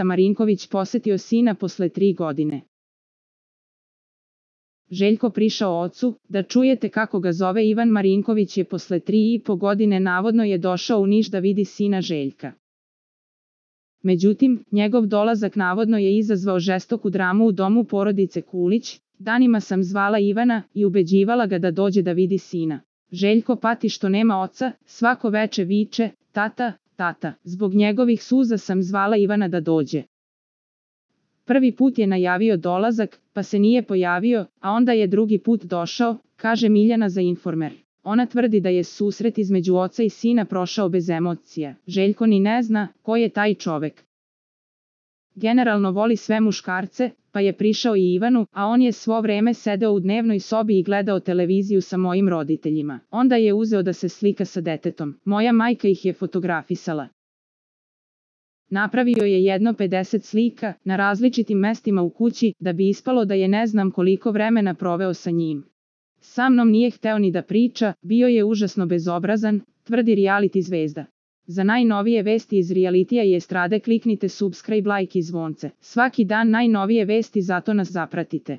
Marinković posetio sina posle 3 godine. Željko prišao ocu, da čujete kako ga zove. Ivan Marinković je posle 3,5 godine navodno je došao u Niš da vidi sina Željka. Međutim, njegov dolazak navodno je izazvao žestoku dramu u domu porodice Kulić. Danima sam zvala Ivana i ubeđivala ga da dođe da vidi sina. Željko pati što nema oca, svako veče viče, tata, tata. Zbog njegovih suza sam zvala Ivana da dođe. Prvi put je najavio dolazak, pa se nije pojavio, a onda je drugi put došao, kaže Miljana za Informer. Ona tvrdi da je susret između oca i sina prošao bez emocija. Željko ni ne zna ko je taj čovek. Generalno voli sve muškarce, pa je prišao i Ivanu, a on je svo vreme sedeo u dnevnoj sobi i gledao televiziju sa mojim roditeljima. Onda je uzeo da se slika sa detetom. Moja majka ih je fotografisala. Napravio je jedno 50 slika na različitim mestima u kući da bi ispalo da je ne znam koliko vremena proveo sa njim. Sa mnom nije hteo ni da priča, bio je užasno bezobrazan, tvrdi reality zvezda. Za najnovije vesti iz realitija i estrade kliknite subscribe, like i zvonce. Svaki dan najnovije vesti, zato nas zapratite.